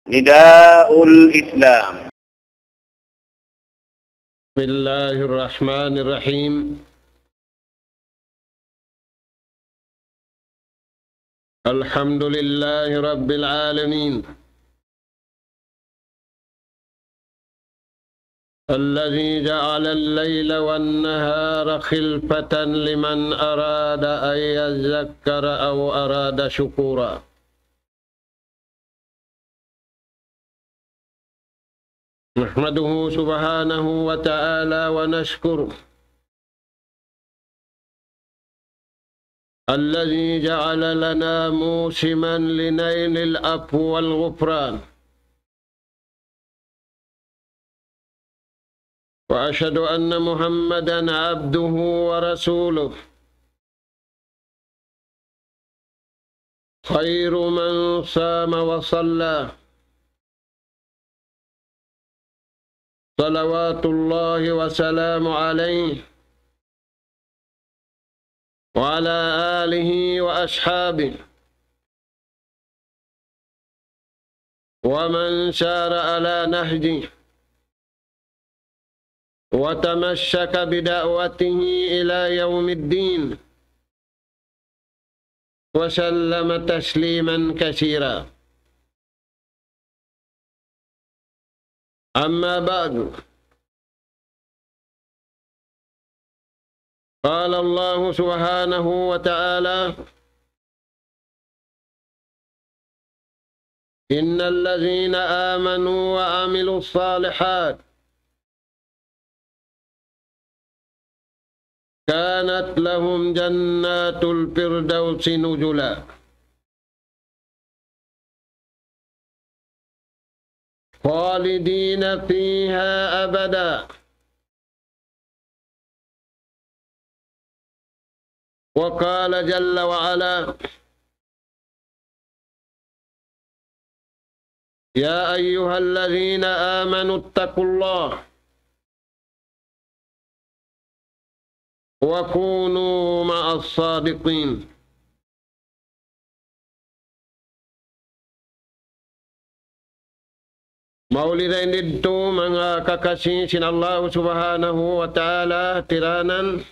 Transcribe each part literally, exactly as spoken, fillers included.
نداء الإسلام. بسم الله الرحمن الرحيم. الحمد لله رب العالمين، الذي جعل الليل والنهار خلفة لمن أراد أن يذكر أو أراد شكورا. نحمده سبحانه وتعالى ونشكره، الذي جعل لنا موسما لنيل العفو والغفران. وأشهد أن محمدا عبده ورسوله، خير من صام وصلى، صلوات الله وسلامه عليه وعلى آله وأصحابه ومن سار على نهجه وتمسك بدعوته إلى يوم الدين، وسلم تسليما كثيرا. أما بعد، قال الله سبحانه وتعالى: إن الذين آمنوا وعملوا الصالحات كانت لهم جنات الفردوس نزلا خالدين فيها أبدا. وقال جل وعلا: يا أيها الذين آمنوا اتقوا الله وكونوا مع الصادقين. Mauli dayn didtu manga kakasi sin Allah Subhanahu wa Ta'ala tiranan,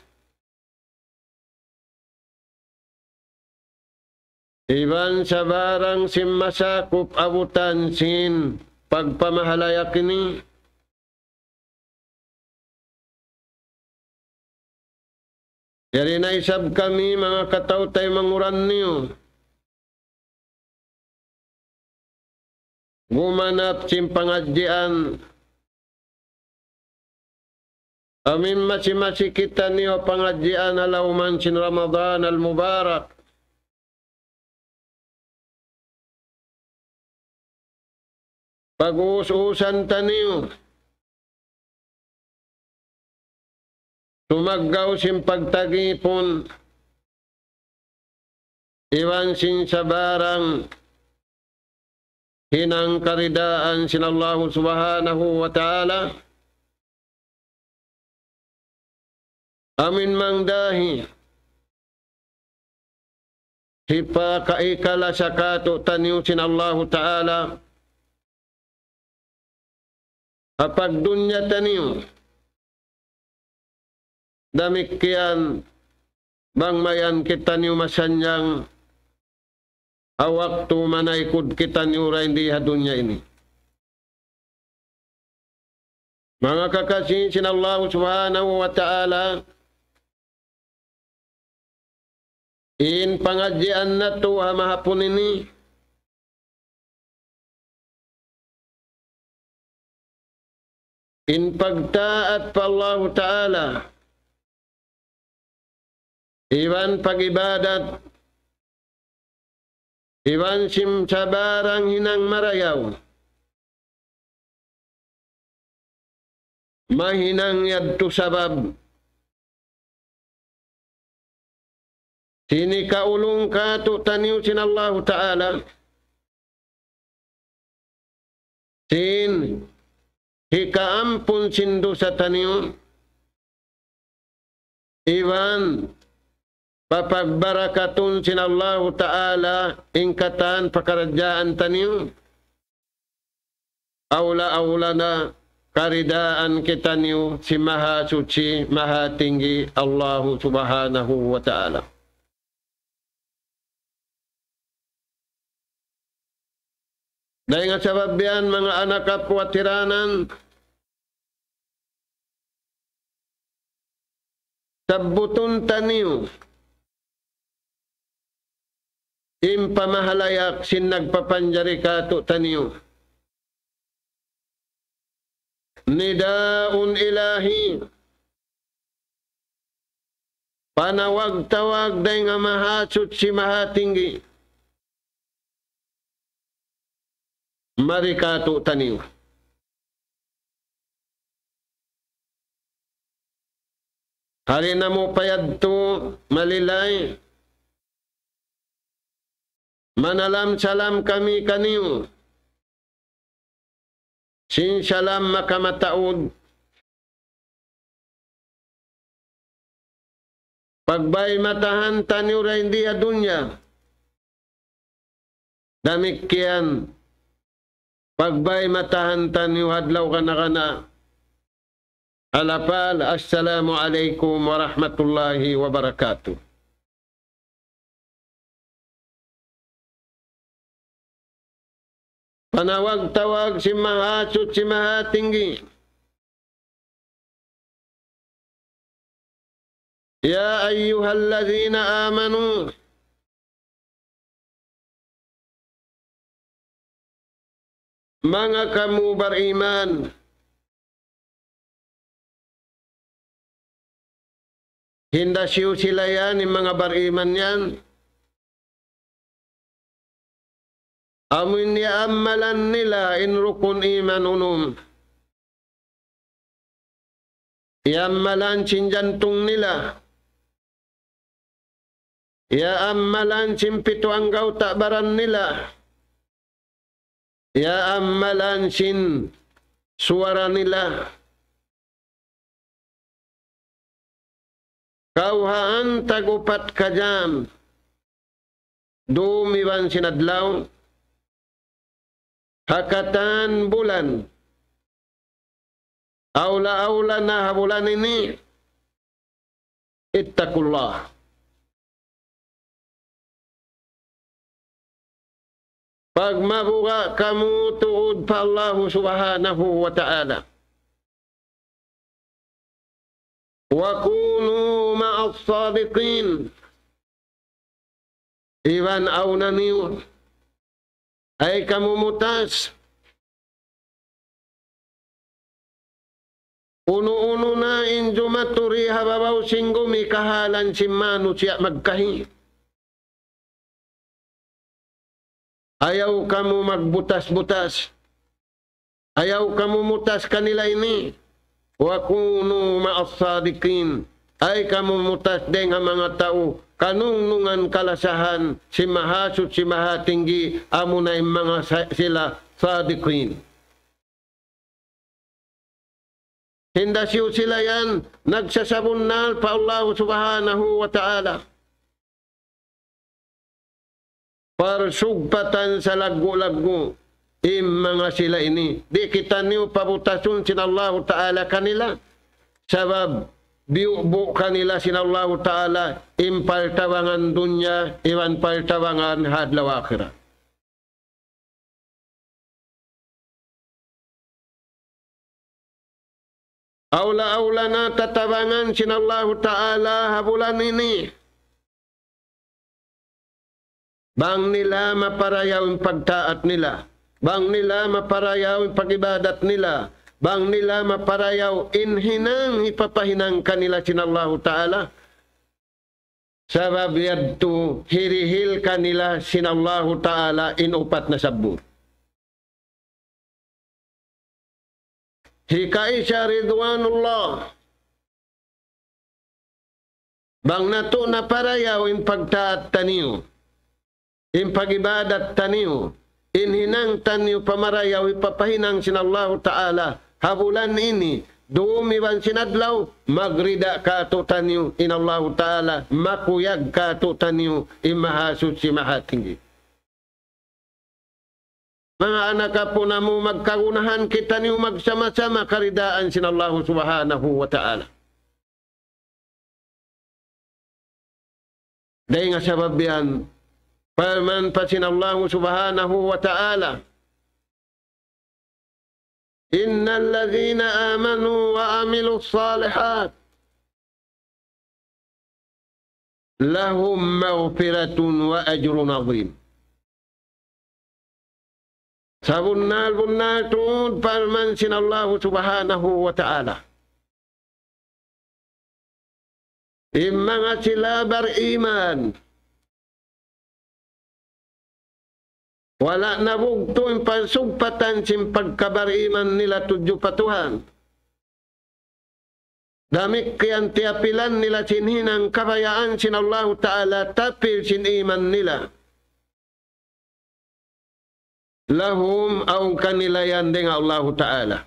iban sabarang sin masakup abutan sin pagpamahalaya' ini. Yari na isab kami manga kataw-taymanghuran niyu gumanap sin pangadjian. Amu in masi-masi kitaniyu pangadjian ha lawm sin Ramadan al-Mubarak. Pag-uus-uusan taniyu tumaggaw sin pagtagipun iban sin sabarang hinang karidaan sin Allahu Subhanahu wa Ta'ala. Amu in mangdahi hipakaikala sa katu'taniyu sin Allahu Ta'ala ha pagdunya taniyu. Damikkiyan bang mayan kitaniyu masannyang ha waktu manaykud kitaniyu dayn di ha dunya ini. Manga kakasi sin Allahu Subhanahu wa Ta'ala, in pangadjian natu' ha mahapun ini, in pagtaat pa Allahu Ta'ala, iban pag-ibadat, iban sin sabarang hinang marayaw. Mahinang yadtu sabab sin hikaulung katu'taniyu sin Allahu Ta'ala, sin hikaampun sin dusa taniyu, iban papagbarakatun sin Allahu Ta'ala in katan pakaradjaan taniyu. awla-awla na karidaan kitaniyu sin Mahasuchi, Mahatinggi, Allahu Subhanahu wa Ta'ala. Dayn ha sabab yan, manga anak apu' ha tiranan, sabbutun taniyu in pamahalayak sin nagpapanjari kātu'niyu. Nida'un ilahi. Panawag-tawag dayn ha Mahasuchi Mahatinggi. Mari kātu'niyu. Hali namu' pa yadtu malilay. Manalam-salam kami kaniyu. Sin salam makamataud. Pagbay matahan taniyu dayn di ha dunya. Damikkiyan, pagbay matahan taniyu ha adlaw kana-kana. Alapal, assalamu alaykum warahmatullahi wabarakatuh. Panawag-tawag sin Mahasuchi Mahatinggi. يا أيها الذين آمنوا. Manga kamu bariman. Hindasiyu sila yan, in manga bariman yan. Amu in iyaammalan nila in rukun iman unum. Iyaammalan sin jantung nila. Iyaammalan sin pitu anggawta' baran nila. Iyaammalan sin suwara nila. Kawhaan tag-upat ka jam. Dum iban sin adlaw. Ha katan bulan. Awla-awla na ha bulan ini. اتقوا الله. Pagmabuga' kamu tuud pa Allahu Subhanahu wa Ta'ala. وكونوا مع الصادقين. Iban awna niyu, ay kamu mutas. Unu-unu na in jumaturi ha babaw sin gumi kahalan sin manusiya' magkahi. Ayaw kamu magbutas-butas. Ayaw kamu mutas kanila ini. وكونوا مع الصادقين. Ay kamu mutas dayn ha manga tau kanungnungan kalasahan sin Mahasuchi Mahatinggi, amuna in manga sa-, sila sadiqin. Hindasiyu sila yan nagsasabunnal pa Allahu Subhanahu wa Ta'ala. Parsugpatan salaggu'-laggu' in manga sila ini. Di' kitaniyu pabutasun sin Allahu Ta'ala kanila. Sabab biyubu' kanila sin Allahu Ta'ala in paltabangan dunya, iban paltabangan ha adlaw akhirat. Awla-awla na tatabangan sin Allahu Ta'ala ha bulan ini. Bang nila maparayaw in pagtaat nila. Bang nila maparayaw in pag-ibadat nila. Bang nila maparayaw in hinang hipapahinang kanila sin Allahu Ta'ala. Sabab yadtu hirihil kanila sin Allahu Ta'ala in upat na sabbut. Hikaisa ridwanullah. Bang natu' naparayaw in pagtaat taniyu, in pag-ibadat taniyu, in hinang taniyu pamarayaw hipapahinang sin Allahu Ta'ala ha bulan ini, dum iban sin adlaw, magrida kātu'niyu in Allahu Ta'ala, makuyag kātu'niyu in Mahasuchi Mahatinggi. Manga anak apu' namu', magkagunahan kitaniyu magsama-sama karidaan sin Allahu Subhanahu wa Ta'ala. Dayn ha sabab yan, parman pa sin Allahu Subhanahu wa Ta'ala, إن الذين آمنوا وعملوا الصالحات لهم مغفرة وأجر عظيم. Sabunnal-bunnal tuud parman sin Allahu Subhanahu wa Ta'ala, in manga sila bariman, wala' nabugtu' in pagsugpatan sin pagkabariman nila tudju pa Tuhan. Damikkiyan tiyapilan nila sin hinang kabayaan sin Allahu Ta'ala, tapil sin iman nila. Lahum, awn kanila yan dayn ha Allahu Ta'ala.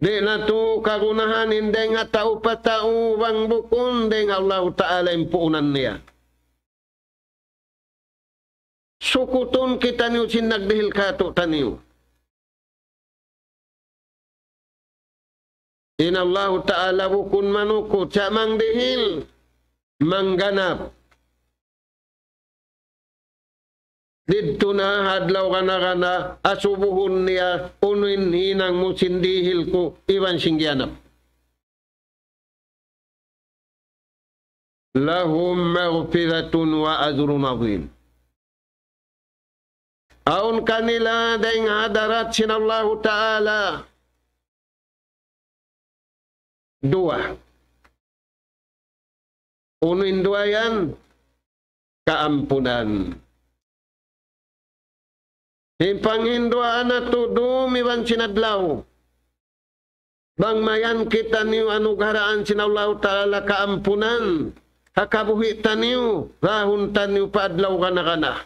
Di' natu' kagunahan in dayn ha tau pa tau bang bukun dayn ha Allahu Ta'ala in puunan niya. Sukutun kitaniyu sin nagdihil kātu'niyu. In Allahu Ta'ala bukun manukut, sa' mangdihil, mangganap. Didtu na ha adlaw gana-gana, asubuhun niya, unu in hinang mu sin dihil ku, iban sin giyanap. لهم مغفرة وأجر عظيم. Awn kanila dayn ha hadarat sin Allahu Ta'ala duwa. Unu in duwa yan? Kaampunan. In panghinduwaa natu' dum iban sin adlaw. Bang mayan kitaniyu anugharaan sin Allahu Ta'ala kaampunan, ha kabuhi' taniyu, rahun taniyu pa adlaw gana-gana.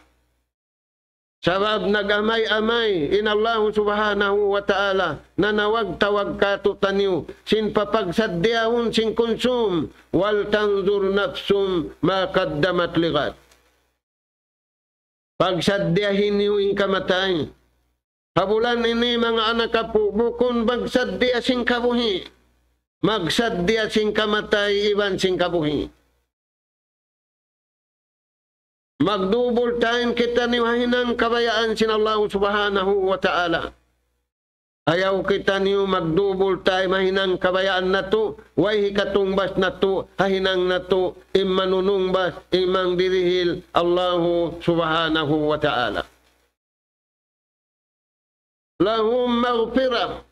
Sabab nag-amay-amay in Allahu Subhanahu wa Ta'ala, nanawag-tawag kātu'niyu, sin papagsaddiyahun sin kunsum, ولتنظر نفس ما قدمت لغد. Pagsaddiyahi niyu in kamatay. Ha bulan ini, manga anak apu', bukun magsaddiya sin kabuhi'. Magsaddiya sin kamatay iban sin kabuhi'. Mag-double time kitaniyu ha hinang kabayaan sin Allahu Subhanahu wa Ta'ala. Ayaw kitaniyu mag-double time ha hinang kabayaan natu', way hikatungbas natu', ha hinang natu', in manunungbas, in mangdirihil, Allahu Subhanahu wa Ta'ala. لهم مغفرة.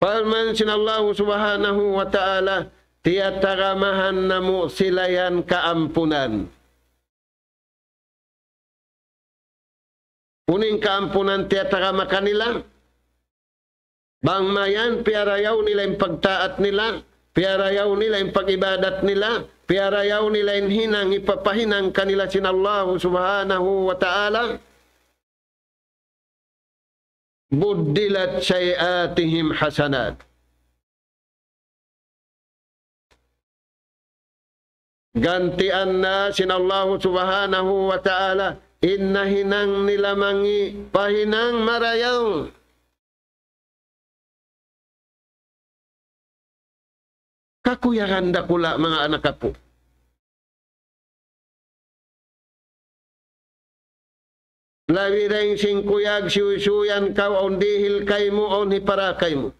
Parman sin Allahu Subhanahu wa Ta'ala, tiyatagamahan namu' sila yan kaampunan. Unu in kaampunan tiyatagama kanila? Bang mayan piyarayaw nila in pagtaat nila, piyarayaw nila in pag-ibadat nila, piyarayaw nila in hinang hipapahinang kanila sin Allahu Subhanahu wa Ta'ala, بدلت سيئاتهم حسنات. Gantian na sin Allahu Subhanahu wa Ta'ala in nahinang nila mangi' pa hinang marayaw. Kakuyagan dakula', manga anak apu'. Labi dayn sin kuyag, siyuysuyan kaw, awn dihil kaymu, awn hipara kaymu.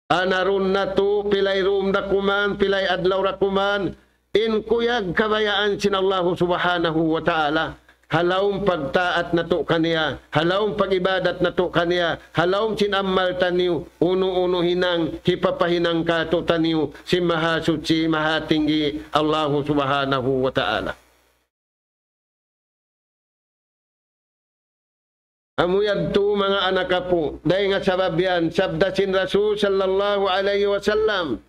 Anarun natu', pilay dum da kuman, pilay adlaw da kuman, in kuyag kabayaan sin Allahu Subhanahu wa Ta'ala, ha lawm pagtaat natu' kaniya, ha lawm pag-ibadat natu' kaniya, ha lawm sin amal taniyu, unu-unu hinang hipapahinang kātu'niyu sin Mahasuchi, Mahatinggi, Allahu Subhanahu wa Ta'ala. Amu yadtu, manga anak apu', dayn ha sabab yan, sabda sin Rasul sallallahu alayhi wasallam,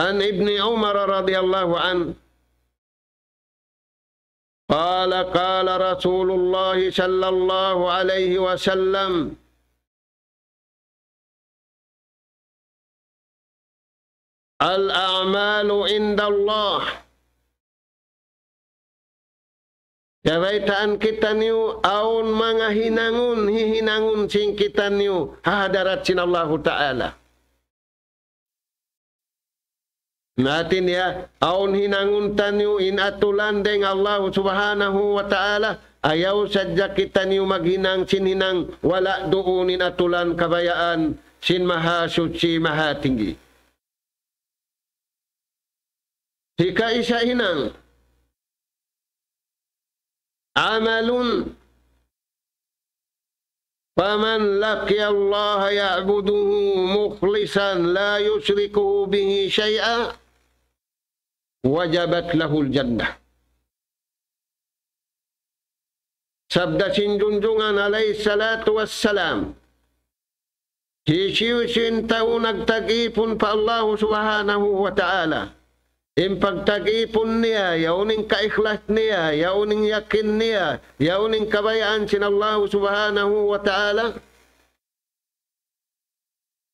عن ابن عمر رضي الله عنه قال: قال رسول الله صلى الله عليه وسلم: الأعمال عند الله. Kabaytaan kitaniyu, awn manga hinangun, hihinangun sin kitaniyu, ha hadarat sin Allahu Ta'ala. Hati niya, awn hinangun taniyu in atulan dayn ha Allahu Subhanahu wa Ta'ala, ayaw sadja kitaniyu maghinang sin hinang wala' duun in atulan kabayaan sin Mahasuchi Mahatinggi. Hikaisa hinang, عمل فمن لقي الله يعبده مخلصا لا يشرك به شيئا وجبت له الجنة. Sabda sin Junjungan alayhi salatu wassalam, hisiyu-siyu in tau nagtag-ipun pa Allahu Subhanahu wa Ta'ala, in pagtag-ipun niya, yaun in kaikhlas niya, yaun in yakin niya, yaun in kabayaan sin Allahu Subhanahu wa Ta'ala,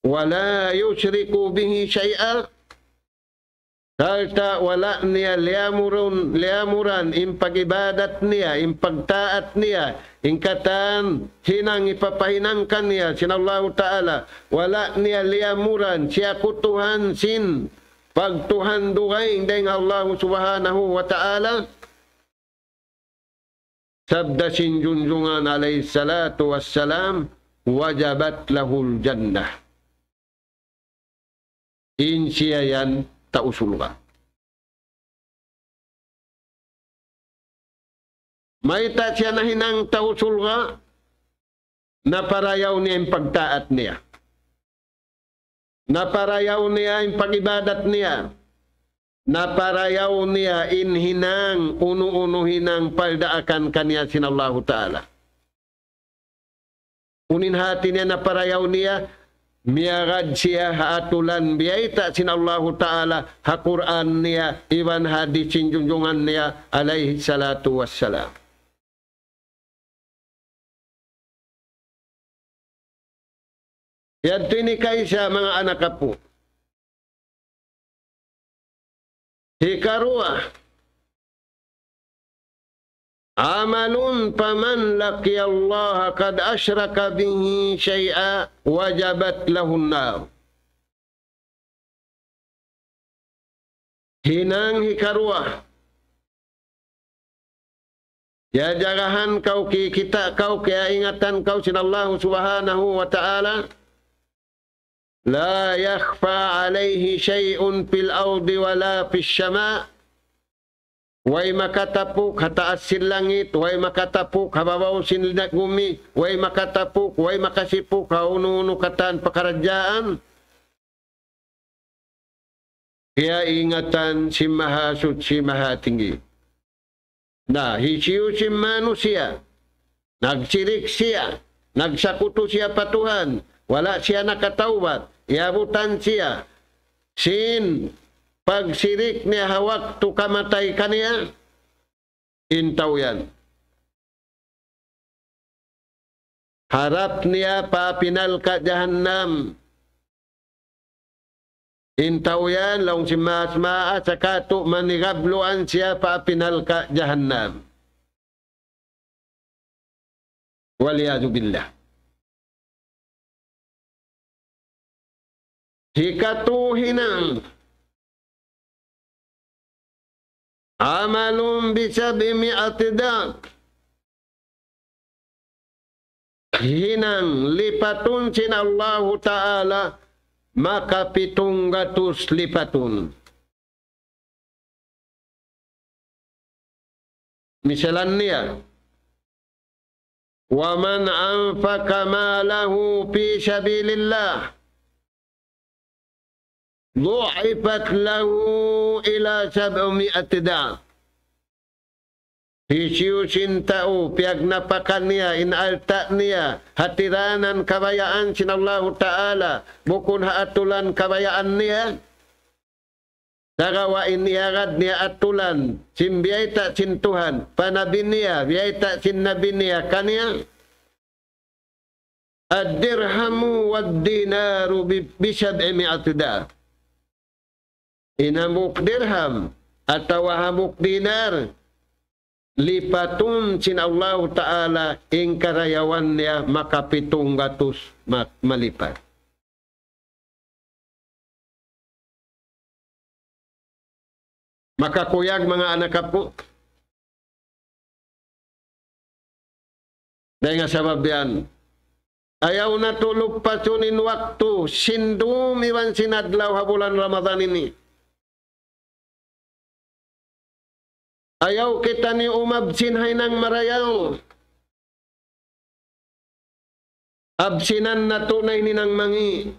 ولا يشرك به شيئا, sarta' wala' niya liyamurun, liyamuran in pag-ibadat niya, in pagtaat niya, in katan hinang hipapahinang kaniya sin Allahu Ta'ala, wala' niya liyamuran, siyakutuhan sin pagtuhan dugaing dayn ha Allahu Subhanahu wa Ta'ala. Sabda sin Junjungan alayhi salatu wassalam, وجبت له الجنة. In siya yan tau surga'. Mayta' siya nahinang tau surga'? Naparayaw niya in pagtaat niya. Naparayaw niya in pag-ibadat niya. Naparayaw niya in hinang, unu-unu hinang pardaakan kaniya sin Allahu Ta'ala. Unu in hati niya naparayaw niya, miyagad siya ha atulan biyayta' sin Allahu Ta'ala, ha Qur'an niya, iban hadith sin Junjungan niya, alayhi salatu wassalam. Yadtu in hikaisa, manga anak apu'. Hikaruwa, عمل فمن لقي الله قد أشرك به شيئا وجبت له النار. Hinang hikaruwa. Kiyajagahan kaw, kikita' kaw, kiyaingatan kaw sin Allahu Subhanahu wa Ta'ala. لا يخفى عليه شيء في الأرض ولا في السماء. Way makatapuk ha taas sin langit, way makatapuk ha babaw sin gumi, way makatapuk, way makasipuk ha unu-unu katan pakaradjaan. Kiyaingatan sin Mahasuchi Mahatinggi. Na, hisiyu-siyu in manusiya', nagsirik siya, nagsakutu siya pa Tuhan, wala' siya nakatawbat, iyabutan siya sin pagsirik niya ha waktu kamatay kaniya, in tau yan harap niya pa api narka' jahannam. In tau yan, laung sin maas-maas, sakatu' manigabluan siya pa api narka' jahannam. والعياذ بالله. Hikatu hinang, عمل بسبعمائة ضعف. Hinang lipatun sin Allahu Ta'ala makapitung gatus lipatun. Misalan niya, ومن أنفق ماله في سبيل الله ضعفت له إلى سبعمائة ضعف. Hisiyu-siyu in tau piyagnapaka niya in alta' niya ha tiranan kabayaan sin Allahu Ta'ala, bukun ha atulan kabayaan niya, sagawa' in iyagad niya atulan sin biyayta' sin Tuhan pa nabi niya, biyayta' sin nabi niya kaniya, الدرهم والدينار ب-، بسبعمائة ضعف. In hambuuk dirham atawa hambuuk dinar, lipatun sin Allahu Ta'ala in karayawan niya makapitung gatus ma-, malipat. Makakuyag, manga anak apu'. Dayn ha sabab yan, ayaw natu' luppasun in waktu, sin dum iban sin adlaw ha bulan Ramadan ini. Ayaw kitaniyu umabsin ha hinang marayaw. Absinan natu' na in hinang mangi'.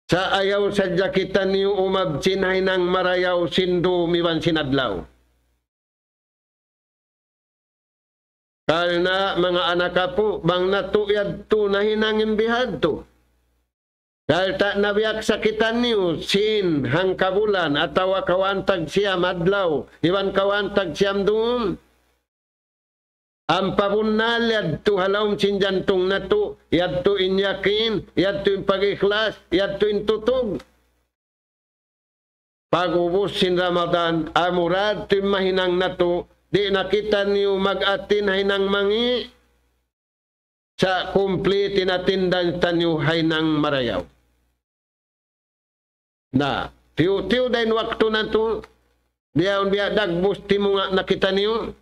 Sa' ayaw sadja kitaniyu umabsin ha hinang marayaw sin dum iban sin adlaw. Karna' manga anak apu', bang natu' yadtu nahinang in bihadtu, sarta' nabiyaksa kitaniyu sin hangkabulan atawa kawhaan tag siyam adlaw iban kawhaan tag siyam dum, ampa bunnal yadtu ha lawm sin jantung natu', yadtu in yakin, yadtu in pag-ikhlas, yadtu in tutug. Pag-ubus sin Ramadan, amura yadtu in mahinang natu', di' na kitaniyu mag-atin ha hinang mangi', sa' kumplit in atindan taniyu ha hinang marayaw. Na, tiyu'-tiyu' da in waktu natu', bihaun biya' dagbus timunga' na kitaniyu.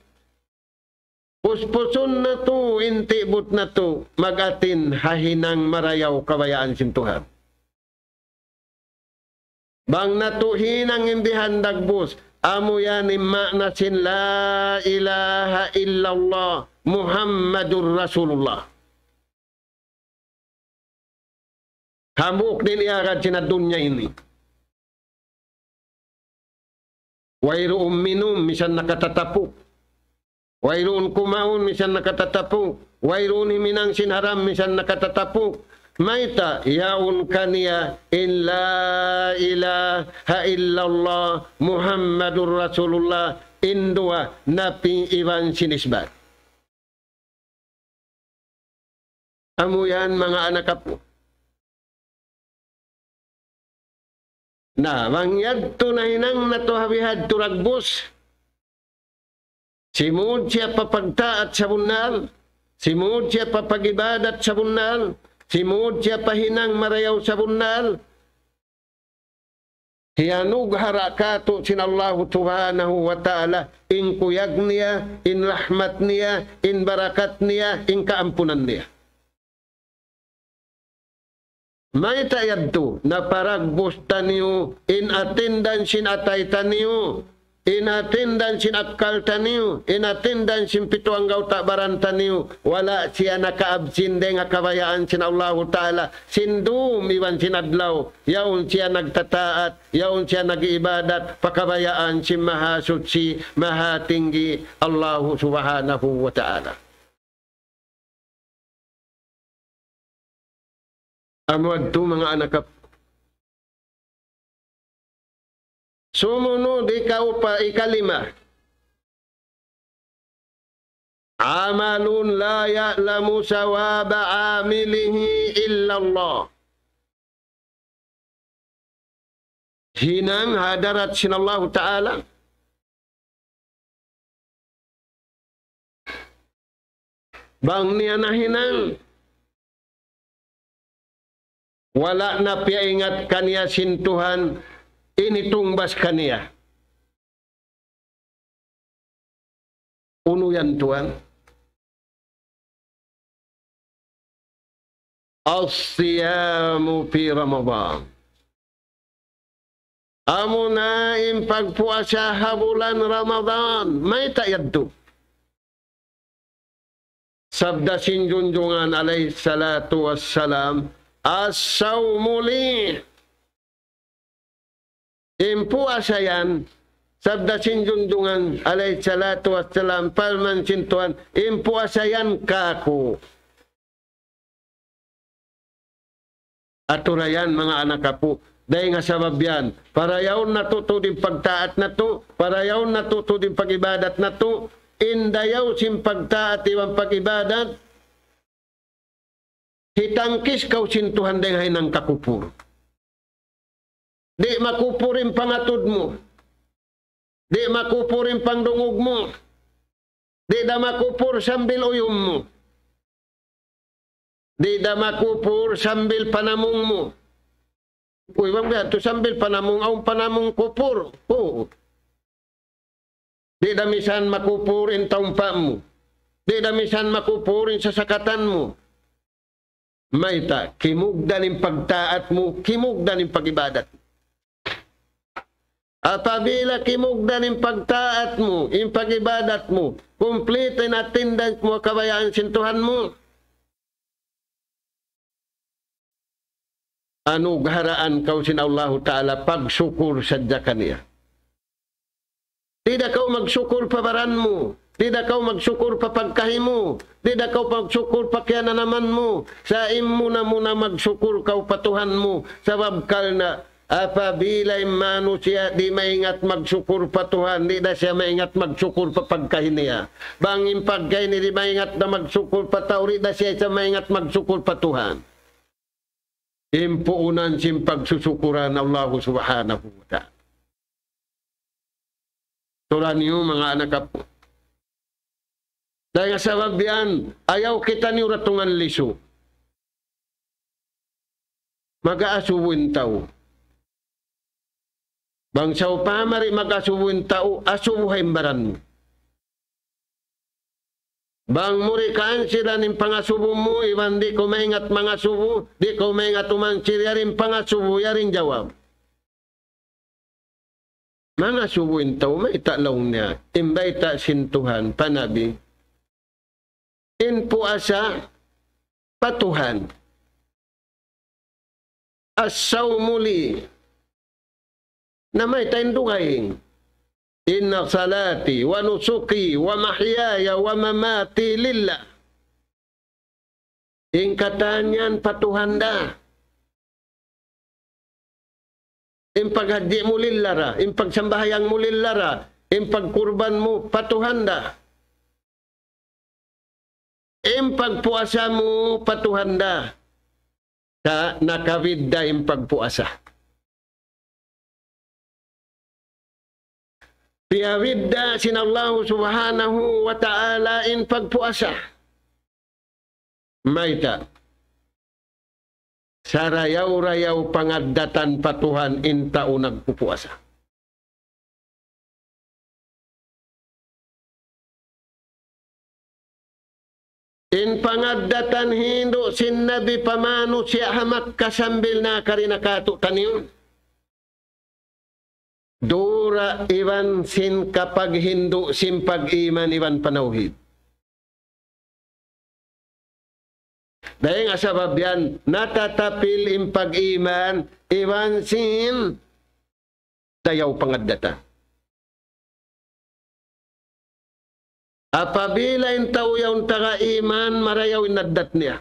Puspusun natu' in ti'but natu', mag-atin ha hinang marayaw kabayaan sin Tuhan. Bang natu' hinang in bihan dagbus, amu yan in maana sin لا إله إلا الله محمد رسول الله. Hambuuk da in iyagad sin dunya ini. Wayruun minum, misan nakatatapuk. Wayruun kumaun, misan nakatatapuk. Wayruun himinang sin haram, misan nakatatapuk. Mayta', yaun kaniya in لا إله إلا الله محمد رسول الله, in duwa napi iban sin isbat. Amu yan, manga anak apu'. Na, bang yadtu nahinang natu' ha bihadtu dagbus, simud siya pa pagtaat sabunnal, simud siya pa pag-ibadat sabunnal, simud siya pa hinang marayaw sabunnal, hiyanughara' kātu' sin Allahu Subhanahu wa Ta'ala in kuyag niya, in rahmat niya, in barakat niya, in kaampunan niya. Mayta' yadtu, naparagbus taniyu, in atindan sin atay taniyu, in atindan sin akkal taniyu, in atindan sin pitu anggawta' baran taniyu, wala' siya nakaabsin dayn ha kabayaan sin Allahu Ta'ala, sin dum iban sin adlaw, yaun siya nagtataat, yaun siya nag-iibadat, pa kabayaan sin Mahasuchi, Mahatinggi, Allahu Subhanahu wa Ta'ala. Amu yadtu, manga anak apu'. Sumunud, ikaupat, ikalima. عمل لا يعلم ثواب عامله إلا الله. Hinang ha hadarat sin Allahu Ta'ala. Bang niya nahinang, wala' na piyaingat kaniya sin Tuhan in hitungbas kaniya. Unu yan, tuwan? الصيام في رمضان. Amuna in pagpuasa ha bulan Ramadan. Mayta' yadtu? Sabda sin Junjungan alayhi salatu wassalam, الصوم لي. In puasa yan, sabda sin Junjungan alayhi salatu wassalam, parman sin Tuhan, in puasa yan kāku'. Atura yan, manga anak apu', dayn ha sabab yan, parayawun natu' tuud in pagtaat natu', parayawun natu' tuud in pag-ibadat natu', in dayaw sin pagtaat iban pag-ibadat, hitangkis kaw sin Tuhan dayn ha hinang kakupur. Di' makupur in pangatud mu. Di' makupur in pangdungug mu. Di' da makupur sambil uyum mu. Di' da makupur sambil panamung mu. Uy, bang biya' tu sambil panamung, awn panamung kupur. Oo. Di' da misan makupur in taumpa' mu. Di' da misan makupur in sasakatan mu. Mayta', kimugdan in pagtaat mu, kimugdan in pag-ibadat. Apabila kimugdan in pagtaat mu, in pag-ibadat mu, complete in attendance mu ha kabayaan sin Tuhan mu, anugharaan kaw sin Allahu Ta'ala pagsukur sadja kaniya. Di' da kaw magsukur pa baran mu. Di' da kaw magsukur pa pagkahi mu. Di' da kaw magsukur pa kiyananaman mu. Sa' in muna-muna magsukur kaw pa Tuhan mu. Sabab karna' apabila in manusiya' di' maingat magsukur pa Tuhan, di' da siya maingat magsukur pa pagkahi niya. Bang in pagkahi niya di' maingat na magsukur pa tau, di' da siya, siya maingat magsukur pa Tuhan. In puunan sin pagsusukuran Allahu Subhanahu wa Ta'ala. Turan niyu, manga anak apu'. Dayn ha sabab yan, ayaw kitaniyu datungan lisu. Mag-aasubu in tau. Bang sawpama di' mag-asubu in tau, asubuha in baran mu. Bang mu di' kaansilan in pangasubu mu, iban di' kaw maingat mangasubu, di' kaw maingat umansil, yari in pangasubu, yari in jawab. Mangasubu in tau, mayta' laung niya, in bayta' sin Tuhan pa Nabi, in puasa pa Tuhan. الصوم لي. Na mayta' in dugaing. إن صلاتي ونسكي ومحياي ومماتي لله. In katan yan pa Tuhan da. In paghadji' mu lillah ra, in pagsambahayang mu lillah ra, in pagkurban mu pa Tuhan da. In pagpuasa mu pa Tuhan da. Sa' nakabidda' in pagpuasa. Piyabidda' sin Allahu Subhanahu wa Ta'ala in pagpuasa. Mayta'? Sarayaw-rayaw pangaddatan pa Tuhan in tau nagpupuasa. In pangaddatan hindu' sin Nabi pa manusiya' ha Makkah sambil nakari na katu'taniyu. Dura iban sin kapaghindu' sin pag-iman iban panawhid. Dayn ha sabab yan, natatapil in pag-iman iban sin dayaw pangaddatan. Apabila in tau yaun taga iman, marayaw in addat niya.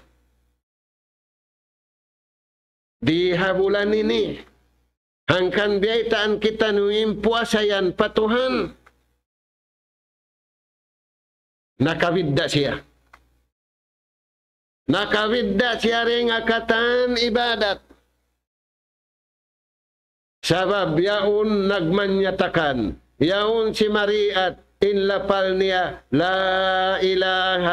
Di ha bulan ini, hangkan biyaytaan kitaniyu in puasa yan pa Tuhan. Nakabidda' siya. Nakabidda' siya dayn ha katan ibadat. Sabab yaun nagmanyatakan, yaun simariat in lapal niya, لا إله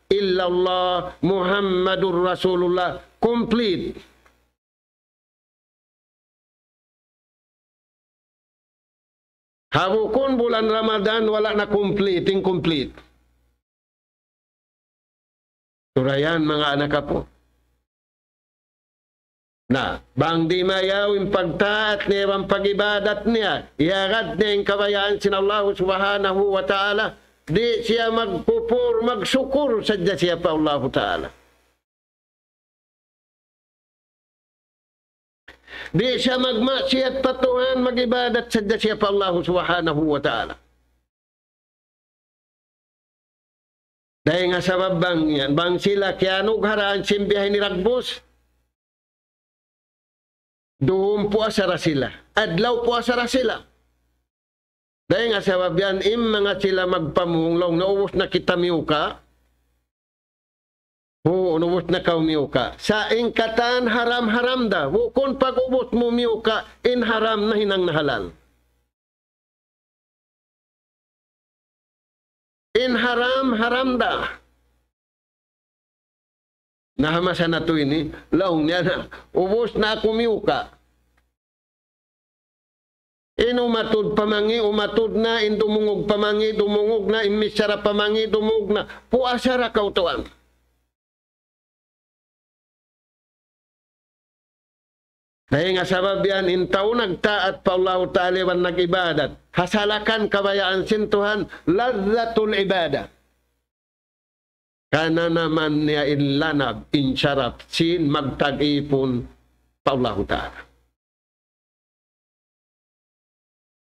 إلا الله محمد رسول الله. Complete. Ha bukun bulan Ramadan, wala' na complete, incomplete. Sura yan, manga anak apu'. Na, bang di' mayaw in pagtaat niya, bang pag-ibadat niya, iyagad niya in kabayaan sin Allahu Subhanahu wa Ta'ala, di' siya magkupur, magsukur sadja siya pa Allahu Ta'ala. Di' siya magmaksiyat pa Tuhan, mag-ibadat sadja siya pa Allahu Subhanahu wa Ta'ala. Dayn ha sabab bang yan, bang sila kiyanugharaan sin biya' ini dagbus, duum puasa da sila, adlaw puasa da sila. Dayn ha sabab yan, in manga sila magpamung laung, naubus na kita miyuka', Huun, ubus na kaw miyuka'. Sa' in katan haram-haram da. Bukun pag-ubus mu miyuka', in haram nahinang na halal. In haram, haram da. Na ha masa natu' ini, laung niya na, ubus na aku miyuka'. In umatud pamangi', umatud na, in dumungug pamangi', dumungug na, in misara pamangi', dumungug na. Puasa ra kaw tuwan. Dayn ha sabab yan, in tau nagtaat pa Allahu Ta'ala iban nag-ibadat, hasalakan kabayaan sin Tuhan, لذة العبادة. Kananaman niya in lanab, in sarap, sin magtag-ipun pa Allahu Ta'ala.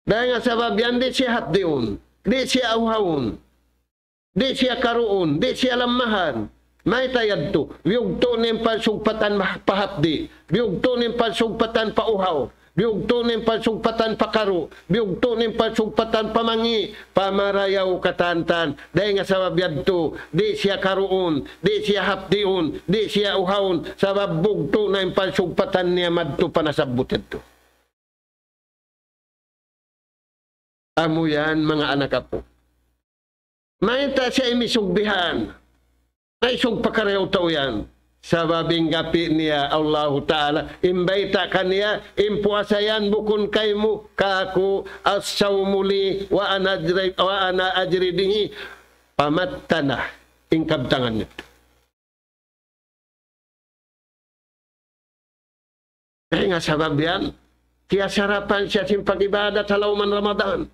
Dayn ha sabab yan, di' siya hapdiun, di' siya uhaun, di' siya karuun, di' siya lammahan. Mayta' yadtu? Biyugtu' niya in pagsugpatan ma-, pa hapdi', biyugtu' niya in pagsugpatan pa uhaw, biyugtu' niya in pagsugpatan pa karu', biyugtu' niya in pagsugpatan pa mangi', pa marayaw katantan. Dayn ha sabab yadtu, di' siya karuun, di' siya hapdiun, di' siya uhaun, sabab bugtu' na in pagsugpatan niya madtu pa nasabbut yadtu. Amu yan, manga anak apu'. Mayta' siya imisug bihan? Naisug pa karayaw tau yan. Sabab in gapi' niya Allahu Ta'ala, in bayta' kaniya, in puasa yan bukun kaymu, kāku', الصوم لي وأنا أجزي، وأنا أجزي به. Pamatta' na in kabtangan niya. Dayn ha sabab yan, kiyasarapan siya sin pag-ibadat ha lawm Ramadan.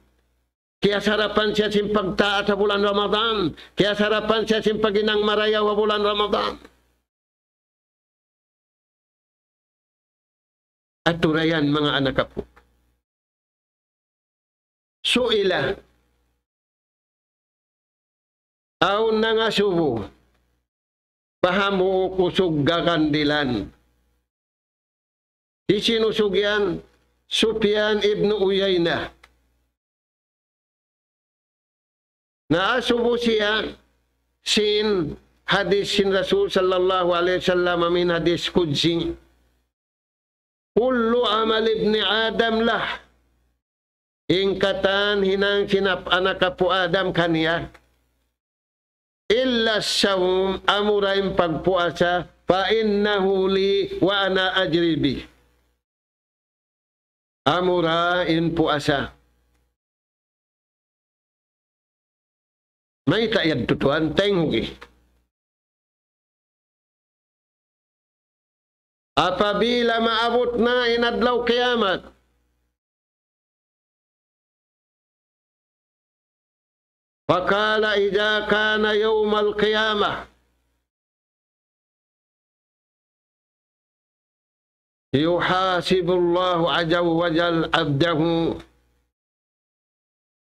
Kiyasarapan siya sin pagtaat ha bulan Ramadan. Kiyasarapan siya sin paghinang marayaw ha bulan Ramadan. Atura yan, manga anak apu'. سئل, awn nangasubu pa hambuuk usug gagandilan. Hisiyu in usug yan? Sufyan ibn Uyayna. Naasubu siya sin hadith sin Rasul sallallahu alayhi wasallam, amu in hadith qudsi. كل عمل ابن آدم له. In katan hinang sin ap-, anak apu' Adam kaniya. إلا الصوم, amura in pagpuasa, فإنه لي وأنا أجزي به. Amura in puasa. Mayta' yadtu tuwan, taynghugi. Apabila maabut na in adlaw kiyamat, فقال إذا كان يوم القيامة يحاسب الله عز وجل عبده.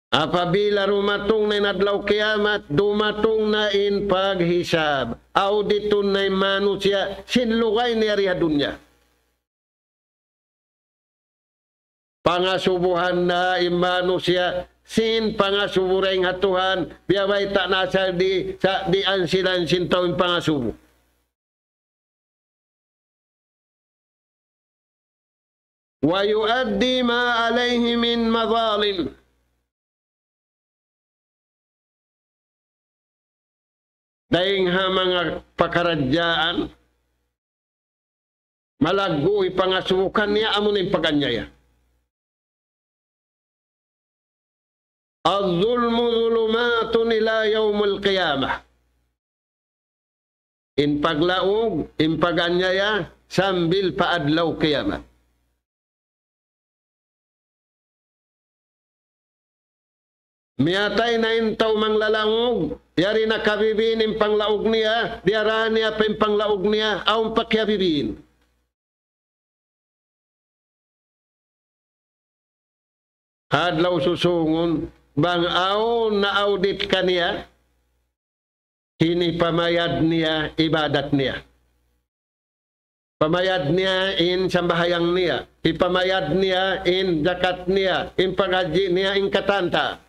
Apabila dumatung na in adlaw kiyamat, dumatung na in paghisab, auditun na in manusiya' sin lugay niya di ha dunya. Pangasubuhan na in manusiya' sin pangasubu dayn ha Tuhan, biya' bayta' na asal di, sa, di ansilan sin tau in pangasubu. ويؤدي ما عليه من مظالم. Dayn ha manga pakaradjaan, malaggu' in pangasubu kaniya, amu na in pag-anyaya. الظلم ظلمات إلى يوم القيامة. In paglaug, in pag-anyaya, sambil pa adlaw kiyamat. Miyatay na in tau manglalaug, yari na kabibiin in panglaug niya, diyara niya pa in panglaug niya, awn pa kiyabibiin. Adlaw susungun, bang awn na-audit kaniya, hinipamayad niya ibadat niya. Pamayad niya in sambahayang niya. Hipamayad niya in jakat niya, in paghajji niya, in katan ta.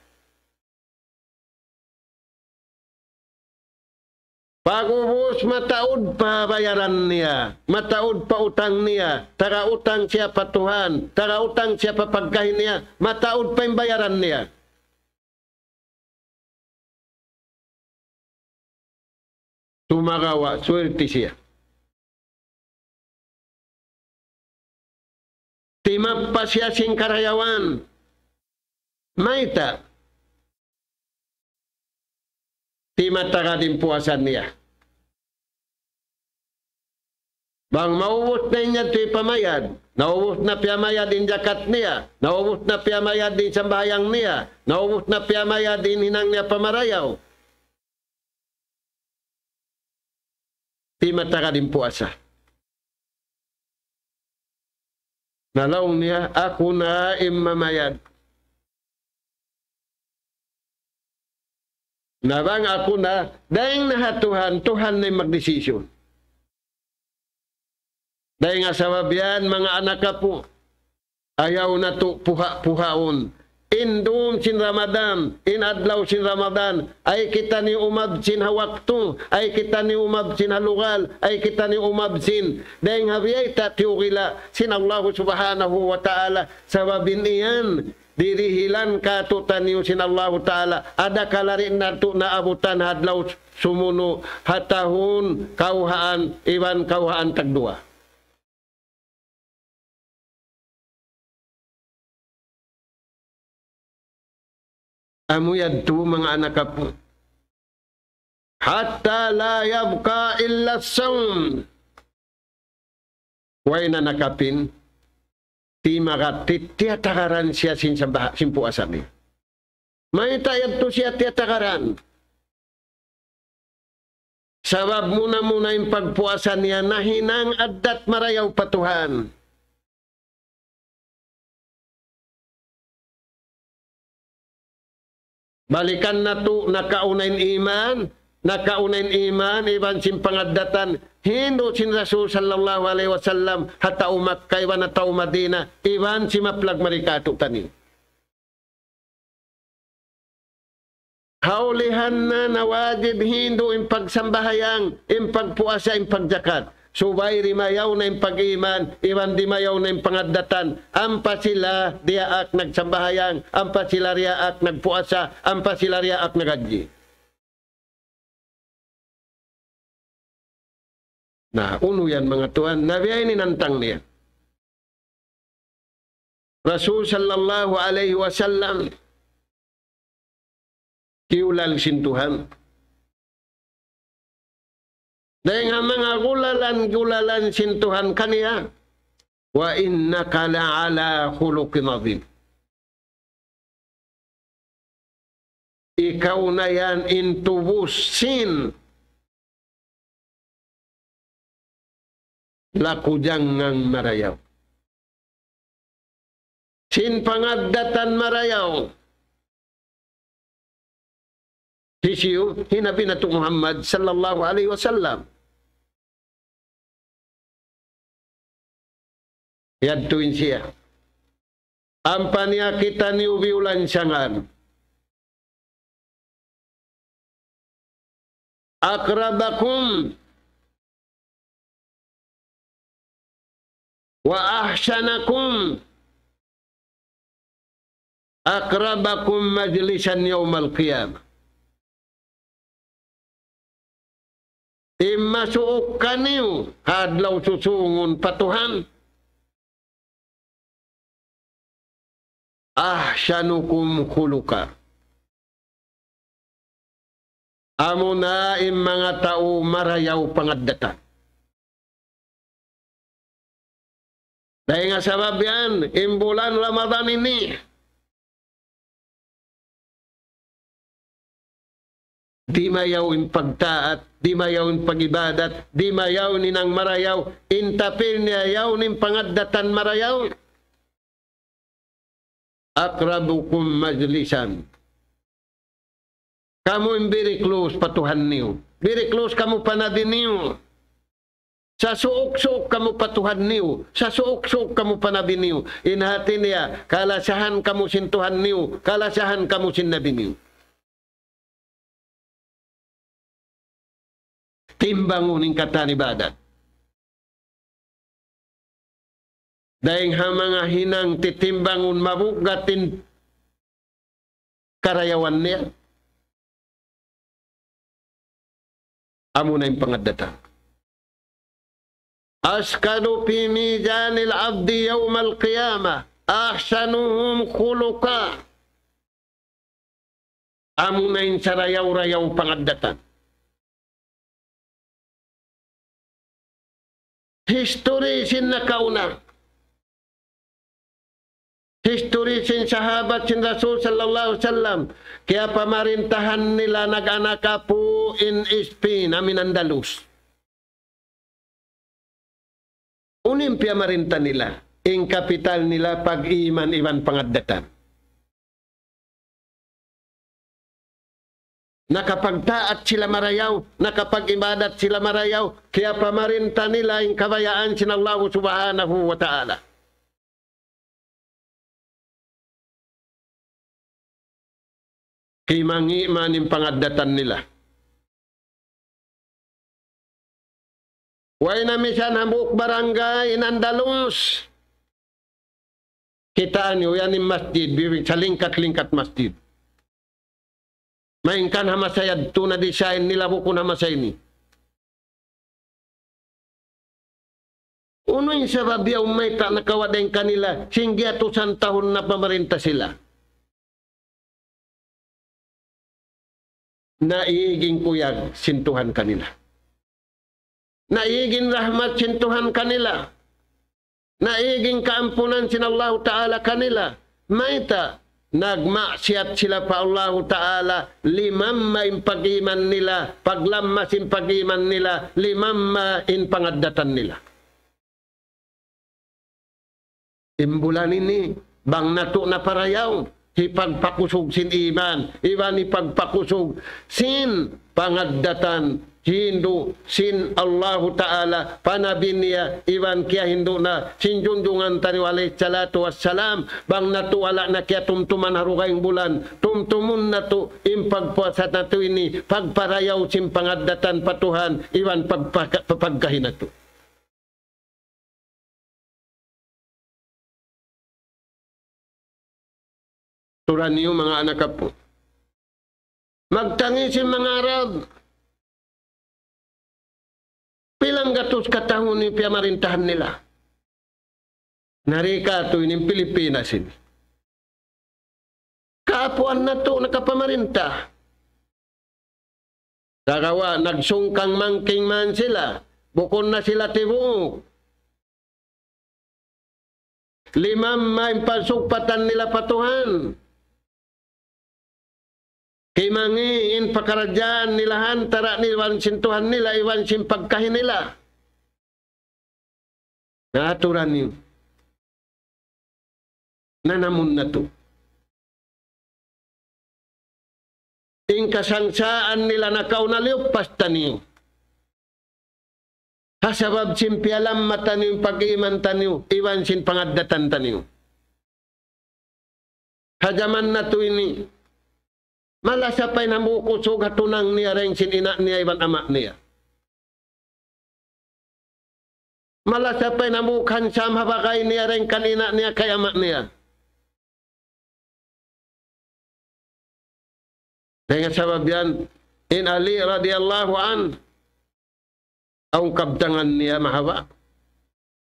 Pag'ubus mataud pa bayaran niya, mataud pa utang niya, taga utang siya pa Tuhan, taga utang siya pa pagkahi niya, mataud pa in bayaran niya. Sumagawa', swerte siya. Timappas siya sin karayawan. Mayta'? Timatagad in puasa niya. Bang maubus na niya yadtu hipamayad, naubus na piyamayad in jakat niya, naubus na piyamayad in sambahayang niya, naubus na piyamayad in hinang niya pa marayaw. Timatagad in puasa. Na laung niya, aku na in mamayad. Na bang aku na, dayn na ha Tuhan, Tuhan na in magdesisyon. Dayn ha sabab yan, manga anak apu', ayaw natu' puha-puhaun. In dum sin Ramadan, in adlaw sin Ramadan, ayaw kitaniyu umabsin ha waktu, ayaw kitaniyu umabsin ha lugal, ayaw kitaniyu umabsin. Dayn ha biya' ta tiyugila sin Allahu Subhanahu wa Ta'ala, sabab in yan, dirihilan kātu'niyu sin Allahu Ta'ala, adakala di' natu' naabutan ha adlaw sumunu', ha tahun kawhaan, iban kawhaan tagduwa. Amu yadtu manga anak apu'. حتى لا يبقى إلا الصوم. Way na nakapin, timagat, ti-, tiyatagaran siya sin sambah-, sin puasa niya. Mayta' yadtu siya tiyatagaran? Sabab muna-muna in pagpuasa niya nahinang addat marayaw pa Tuhan. Balikan natu', nakauna in iman, nakauna in iman, iban sin pangaddatan, hindu' sin Rasul sallallahu alayhi wasallam, ha tau Makkah, iban ha tau Madinah, iban sin maplag mari kātu'niyu. Ha ulihan na, na wajib hindu' in pagsambahayang, in pagpuasa, in pagjakat. Subay dimayaw na in pag-iman, iban dimayaw na in pangaddatan. Ampa sila diyaak nagsambahayang, ampa sila diyaak nagpuasa, ampa sila diyaak naghajji. Na, unu yan, manga tuwan? Na biya' ini in hantang niya. Rasul sallallahu alayhi wasallam, kiyulal sin Tuhan. Dayn ha manga gulalan-gulalan sin Tuhan kaniya, وإنك لعلى خلق عظيم. Ikaw na yan in tubus sin laku jangngang marayaw. Sin pangaddatan marayaw. Hisiyu? Hi Nabi natu' Muhammad sallallahu alayhi wasallam. Yadtu in siya. Ampa niya kitaniyu biyulansangan. أقربكم وأحسنكم أقربكم مجلسا يوم القيامة. In masuuk kaniyu ha adlaw susūngun pa Tuhan, أحسنكم خلقا. Amuna in manga tau marayaw pangaddatan. Dayn ha sabab yan, in bulan Ramadan ini, dimayaw in pagtaat, dimayaw in pag-ibadat, dimayaw in hinang marayaw, in tapil niya yaun in pangaddatan marayaw. أقربكم مجلسا. Kamu in very close pa Tuhan niyu. Very close kamu pa Nabi niyu. Sasuuk-suuk kamu pa Tuhan niyu. Sasuuk-suuk kamu pa Nabi niyu. In hati niya, kalasahan kamu sin Tuhan niyu. Kalasahan kamu sin Nabi niyu. timbangun in katan ibadat. Dayng ha manga hinang titimbangun mabugat in karayawan niya. Amuna in pangaddatan. أثقل في ميزان العبد يوم القيامة أحسنهم خلقا. Amuna in sarayaw-rayaw pangaddatan. History sin nakauna. History sin sahabat sin Rasul sallallahu alayhi wasallam. Kiyapamarintahan nila nag-anak apu' in Spain, amu in Andalus. Unu in piyamarinta nila? In kapital nila pag-iman iban pangaddatan. Nakapagtaat sila marayaw, nakapag-ibadat sila marayaw, kiyapamarinta nila in kabayaan sin Allahu Subhanahu wa Ta'ala. Kimangi' man in pangaddatan nila. Way na misan hambuuk barangay in Andalus. Kitaa niyu yan in masjid, bibi-, salingkat-lingkat masjid. Malayngkan ha masa yadtu na-design nila bukun ha masa ini. Unu in sabab yaun mayta' nakawa' dayn kanila, sin giyatusan tahun na pamarinta sila. Naig in kuyag sin Tuhan kanila. Naig in rahmat sin Tuhan kanila. Naig in kaampunan sin Allahu Ta'ala kanila. Mayta', nagmaksiyat sila pa Allahu Ta'ala, limamma in pag-iman nila, paglammas in pag-iman nila, limamma in pangaddatan nila. In bulan ini, bang natu' na parayaw, hipagpakusug sin iman, iban hipagpakusug sin pangaddatan hindu' sin Allahu Ta'ala, pa Nabi niya, iban kiyahindu' na sin junjungan taniyu alayhi salatu wassalam, bang natu' wala' na kiyatumtuman ha dugaing bulan, tumtumun natu' in pagpuasa natu' ini, pagparayaw sin pangaddatan pa Tuhan, iban pagpaka-, pagkahi natu'. Tura niyu manga anak apu'. Magtangis in manga Arab. Pilang gatus katahun in piyamarintahan nila. Na di' katu' ini in Pilipinas ini. Kaapuan natu' nakapamarinta. Sagawa' nagsungkang mangking man sila, bukun na sila tibuuk. Limamma in pagsugpatan nila pa Tuhan. Kimangi' in pakaradjaan nila ha antara' nila iban sin Tuhan nila, iban sin pagkahi nila. Na aturan niyu. Nanamun natu'. In kasangsaan nila nakauna liyuppas taniyu. Ha sabab sin piyalamma taniyu, pag-iman taniyu, iban sin pangaddatan taniyu. Ha jaman natu' ini, malasa pa in hambuuk usug ha tunang niya dayn sin ina' niya iban ama' niya. Malasa pa in hambuuk hansam ha bagay niya dayn kan ina' niya kay ama' niya. Dayn ha sabab yan, in Ali radiyallahu anhu, awn kabtangan niya mahaba'.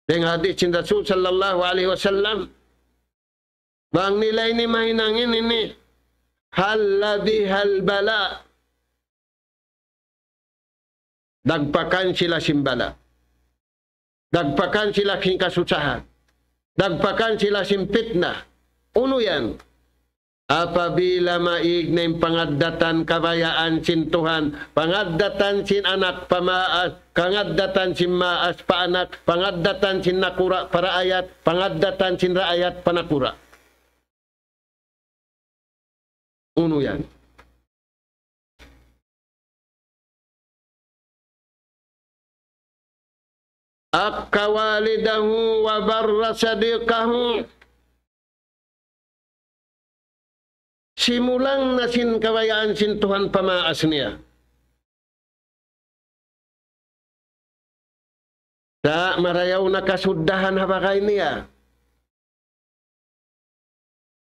Dayn ha hadith sin Rasul sallallahu alayhi wasallam, bang nila ini mahinang ini, ini, هل بها البلاء. Dagpakan sila sin bala'. Dagpakan sila sin kasusahan. Dagpakan sila sin pitna. Unu yan? Apabila maig na in pangaddatan kabayaan sin Tuhan, pangaddatan sin anak pa maas, pangaddatan sin maas pa anak, pangaddatan sin nakura' pa raayat, pangaddatan sin raayat pa nakura'. Unu yan? عق والده وبر صديقه. Simulang na sin kabayaan sin Tuhan pa maas niya. Sa' marayaw na kasuddahan ha bagay niya.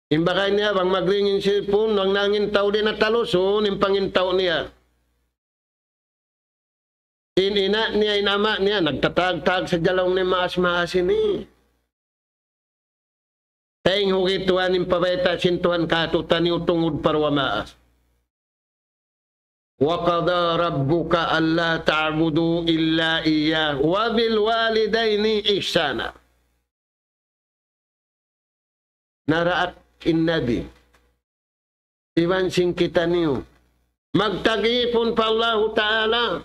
In bagay niya, bang magring in cellphone, bang nangintaw di' na talusun, in pangintaw niya. In ina' niya, in ama' niya, nagtatagtag sadja laung niya maas-maas ini. Tayng hugi Tuhan in pabayta' sin Tuhan kātu'niyu tungud pa duwa maas. وقضى ربك ألا تعبدوا إلا إياه وبالوالدين إحسانا. Naraak in Nabi iban sin kitaniyu magtag-ipun pa Allahu Ta'ala.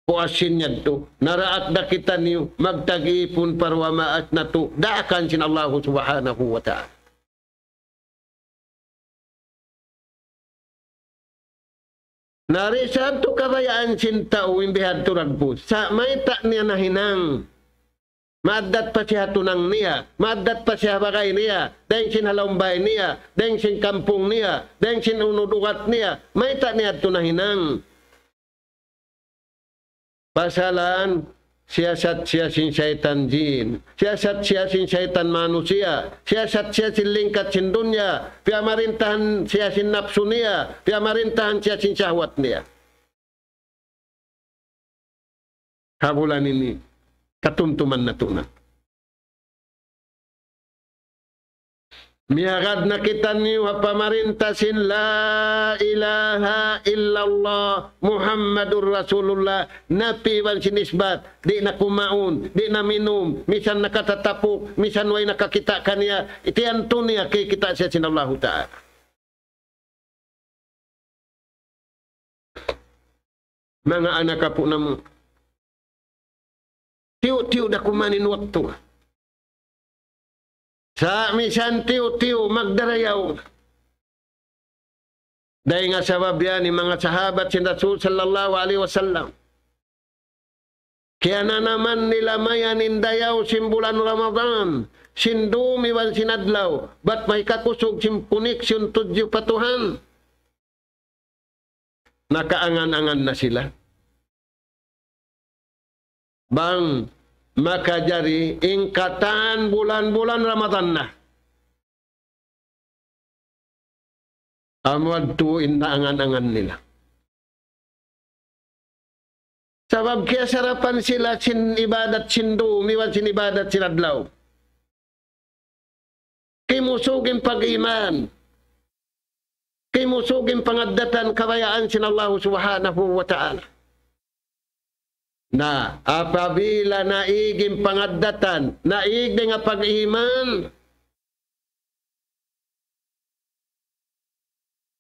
Puas sin yadtu, naraak da kitaniyu magtag-ipun pa duwa maas natu' daakan sin Allahu Subhanahu wa Ta'ala. Na di' sadtu kabayaan sin tau in bihadtu dagbus. Sa' mayta' niya nahinang? Maaddat pa siya ha tunang niya, maaddat pa siya ha bagay niya, dayng sin ha lawm bay niya, dayng sin kampung niya, dayng sin unud ugat niya, mayta' niya yadtu nahinang? Pasalan, siyasat siya sin saytan jin, siyasat siya sin saytan manusiya', siyasat siya sin lingkat sin dunya, piyamarintahan siya sin napsu niya, piyamarintahan siya sin sahwat niya. Ha bulan ini, katumtuman natu' na. Miyagad na kitaniyu ha pamarinta sin لا إله إلا الله محمد رسول الله, nafi iban sin isbat, di' na kumaun, di' na minum, misan nakatatapuk, misan way nakakita' kaniya, tiyantu niya kikita' siya sin Allahu Ta'ala. Manga anak apu' namu'. Tiyu'-tiyu' da kuman in waktu. Sa' misan tiyu'-tiyu' magdarayaw. Dayng ha sabab yan in manga sahabat sin Rasul sallallahu alayhi wasallam, kiyananaman nila mayan in dayaw sin bulan Ramadan, sin dum iban sin adlaw, bat mahikakusug sin koneksyon tudju pa Tuhan. Nakaangan-angan na sila bang makajari in katan bulan-bulan Ramadan na. Amu yadtu in naangan-angan nila. Sabab kiyasarapan sila sin ibadat sin dum iban sin ibadat sin adlaw. Kimusug in pag-iman. Kimusug in pangaddatan kabayaan sin Allahu Subhanahu wa Ta'ala. Na, apabila naig in pangaddatan, naig dayn ha pag-iman,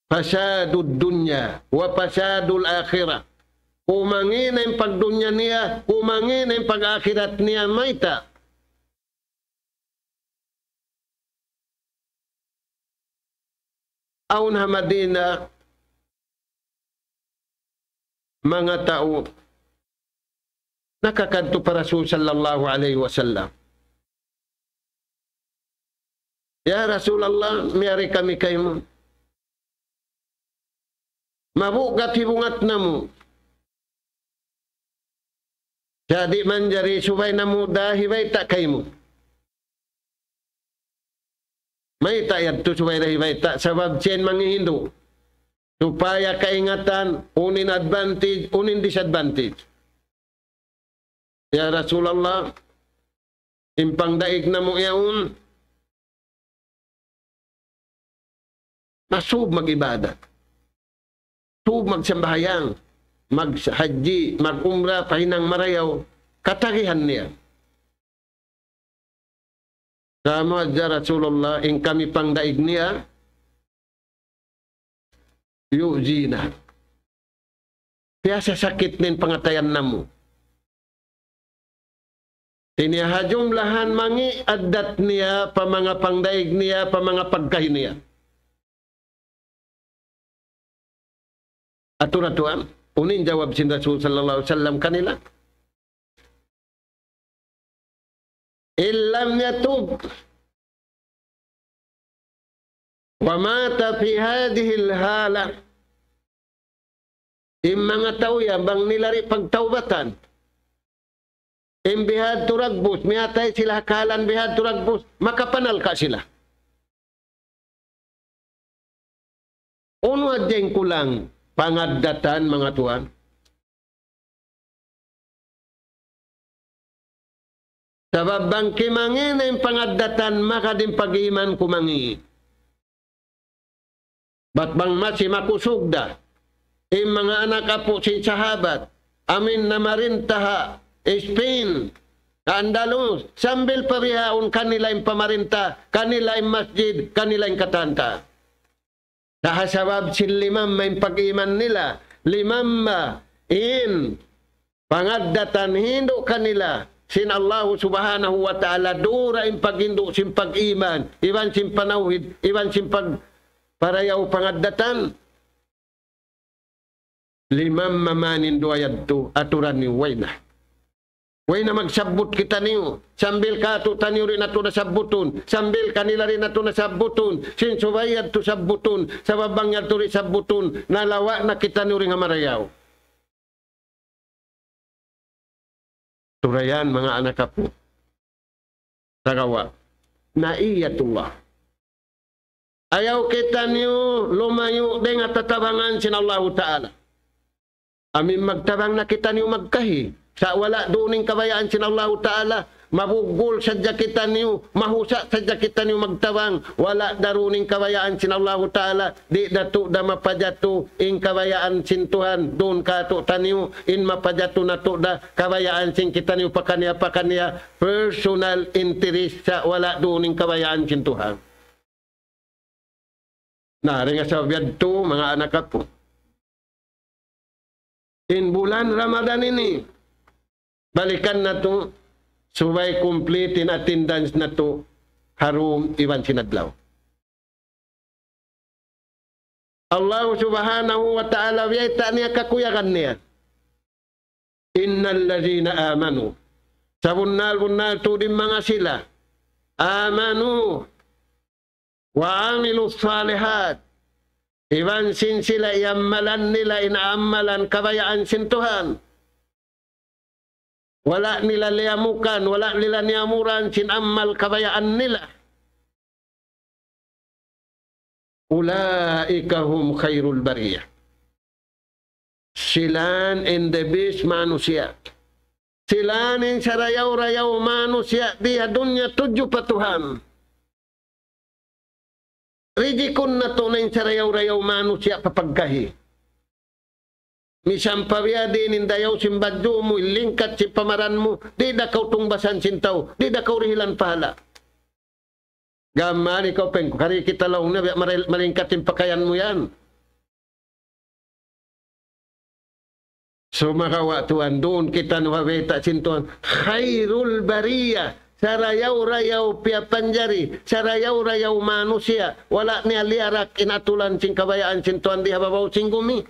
فساد الدنيا وفساد الآخرة. Kumangi' na in pagdunya niya, kumangi' na in pag-akhirat niya, mayta'? Awn ha Madina, manga tau nakakadtu pa Rasul sallallahu alayhi wasallam. "Ya Rasulullah, miyari kami kaymu. Mabugat hibungat namu'. Sa' di' manjari subay namu' da hibayta' kaymu." Mayta' yadtu subay da hibayta', sabab siya in mangihindu'. Supaya kaingatan, unu in advantage, unu in disadvantage. "Ya Rasulullah, in pangdaig namu' yaun, masub mag-ibadat. Sub magsambahayang, maghajji, mag-umrah, pahinang marayaw, katagihan niya." Sa' mayta' Rasulullah, in kami pangdaig niya, يؤذينا. Piyasasakit niya in pangatayan namu'. Ini ha jumlahan mangi' addat niya, pa manga pangdaig niya, pa manga pagkahi niya. Atur-aturan, unu in jawab sin Rasul sallallahu alayhi wasallam kanila? إن لم يتب ومات في هذه الحالة. In manga tau yan, bang nila di' pagtaubatan, In bihadtu dagbus, miyatay sila ha kahalan bihadtu dagbus, makapanalka' sila. Unu hadja in kulang pangaddatan, manga tuwan? Sabab bang kimangi' na in pangaddatan, maka in pag-iman kumangi'. Bat bang masi makusug da in manga anak apu' sin sahabat, amuin namarinta ha Spain, ha Andalus, sambil pa bihaun kanila in pamarinta, kanila in masjid, kanila in katan-katan. Sa' ha sabab sin limamma in pag-iman nila, limamma in pangaddatan hindu' kanila sin Allahu Subhanahu wa Ta'ala, dura in paghindu' sin pag-iman, iban sin panawhid, iban sin pag-, parayaw pangaddatan. Limamma man in duwa yadtu, aturan niyu way na. Way na magsabbut kitaniyu. Sambil kātu'niyu di' natu' na sabbutun. Sambil kanila di' natu' na sabbutun. Sin subay yadtu sabbutun. Sabab bang yadtu di' sabbutun, nalawa' na kitaniyu dayn ha marayaw. Turayan, manga anak apu'. Sagawa'. Na'iyatullah. Ayaw kitaniyu lumayu' dayn ha tatabangan sin Allahu Ta'ala. Amuin magtabang na kitaniyu magkahi. Sa' wala' duun in kabayaan sin Allahu Ta'ala. Mabugul sadja kitaniyu, mahusa' sadja kitaniyu magtabang. Wala' da duun in kabayaan sin Allahu Ta'ala. Di' da tuud da mapajatu in kabayaan sin Tuhan duun kātu'niyu, in mapajatu na tuud da kabayaan sin kitaniyu pakaniya-pakaniya, personal interest, sa' wala' duun in kabayaan sin Tuhan. Na, dayn ha sabab yadtu, manga anak apu'. In bulan Ramadan ini, balikan natu', subay complete in attendance natu', ha dum iban sin adlaw. Allah Subhanahu wa Ta'ala, biyayta' niya kakuyagan niya. إن الذين آمنوا. Sabunnal-bunnal tuud in manga sila. آمنوا وعملوا الصالحات. Iban sin sila iyammalan nila in amalan kabayaan sin Tuhan. Wala' nila liyamukan, wala' nila niyamuran sin amal kabayaan nila. أولئك هم خير البرية. Sila in the best manusiya'. Sila in sarayaw-rayaw manusiya' di ha dunya tudju pa Tuhan. Rijikun natu' na in sarayaw-rayaw manusiya' pa pagkahi. Misan pa biya' diin in dayaw sin badju' mu, in lingkat sin pamaran mu, di' da kaw tungbasan sin tau, di' da kaw dihilan pahala'. Gam mayan ikaw pengku, kari kita laung na, biya' maral-, malingkat in pakayan mu yan. Sumagawa' tuwan, duun kitaniyu ha bayta' sin Tuhan, خير البرية, sarayaw-rayaw piyapanjari, sarayaw-rayaw manusiya', wala' niya liyarak in aturan sin kabayaan sin Tuhan di ha babaw sin gumi.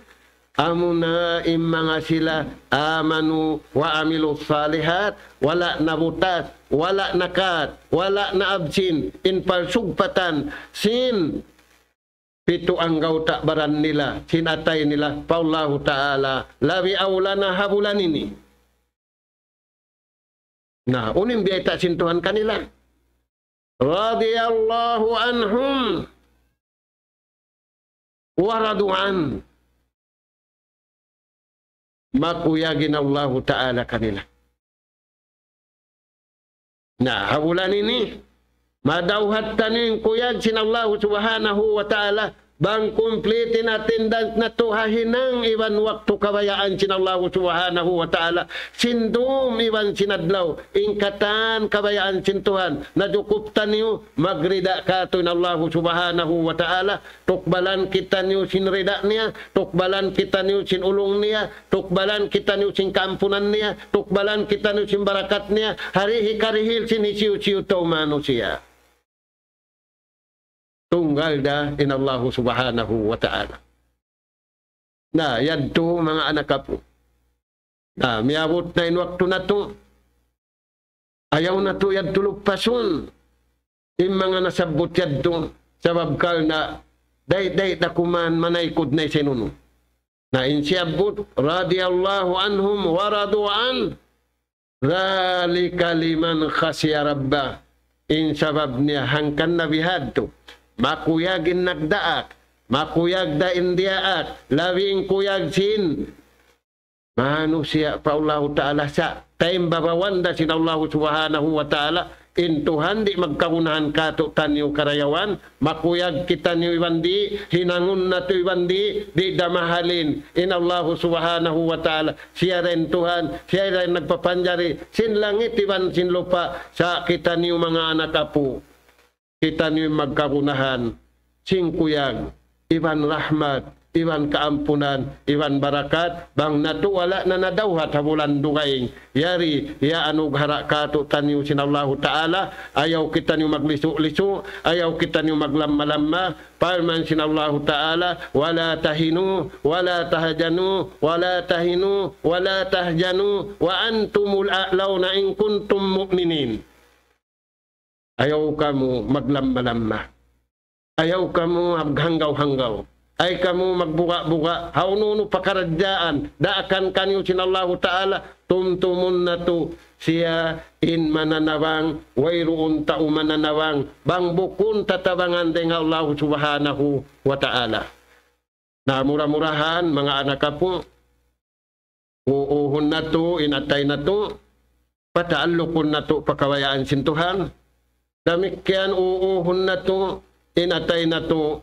Amuna in manga sila, آمنوا وعملوا الصالحات, wala' nabutas, wala' nakat, wala' naabsin, in parsugpatan sin pitu anggawta' baran nila, sin atay nila, pa Allahu Ta'ala, labi awla na ha bulan ini. Na, unu in biyayta' sin Tuhan kanila. رضي الله عنهم ورضوا عنه. Makuyag in Allahu Ta'ala kanila. Na, ha bulan ini, madawhat taniyu in kuyag sin Allahu Subhanahu wa Ta'ala, bang complete in attendance natu' ha hinang iban waktu kabayaan sin Allahu Subhanahu wa Ta'ala, sin dum iban sin adlaw, in katan kabayaan sin Tuhan, najukup taniyu, magrida kātu' in Allahu Subhanahu wa Ta'ala, tukbalan kitaniyu sin rida niya, tukbalan kitaniyu sin ulung niya, tukbalan kitaniyu sin kaampunan niya, tukbalan kitaniyu sin barakat niya, ha dihil karihil sin hisiyu-siyu tau manusiya'. Tunggal da in Allahu Subhanahu wa Ta'ala. Na, yadtu manga anak apu'. Na, miyabut na in waktu natu'. Ayaw natu' yadtu luppasun. In manga nasabbut yadtu, sabab karna' day-day da kuman manaykud na sin unu. Na in siyabbut, رضي الله عنهم ورضوا عنه. ذلك لمن خشي ربه. In sabab niya hangkan na bihadtu. Makuyag in nagdaak. Makuyag da in diyaak. Labi in kuyag sin manusiya' pa Allahu Ta'ala sa' taymbabawan da sin Allahu Subhanahu wa Ta'ala. In Tuhan di' magkagunahan kātu'niyu karayawan, makuyag kitaniyu iban di', hinangun natu' iban di', di' da mahalin. In Allahu Subhanahu wa Ta'ala, siya da in Tuhan, siya da in nagpapanjari sin langit iban sin lupa', sa' kitaniyu manga anak apu'. Kitaniyu in magkagunahan sin kuyag, iban rahmat, iban kaampunan, iban barakat, bang natu' wala' na nadawhat ha bulan dugaing. Yari, iyaanugaraha kātu'niyu sin Allahu Ta'ala, ayaw kitaniyu maglisu'-lisu', ayaw kitaniyu maglamma-lamma, parman sin Allahu Ta'ala, ولا تهنوا ولا تحزنوا ولا تهنوا ولا تحزنوا وأنتم الأعلون إن كنتم مؤمنين. Ayaw kamu maglamma-lamma. Ayaw kamu maghanggaw-hanggaw. Ayaw kamu magbuga'-buga'. Hawnu-hawnu pakaradjaan daakan kaniyu sin Allahu Ta'ala, tumtumun natu' siya in mananabang, wayruun tau mananabang, bang bukun tatabangan dayn ha Allahu Subhanahu wa Ta'ala. Na mura-murahan, manga anak apu', uuhun natu' in atay natu', pataallukun natu' pa kabayaan sin Tuhan. Damikkiyan uuhun natu' in atay natu',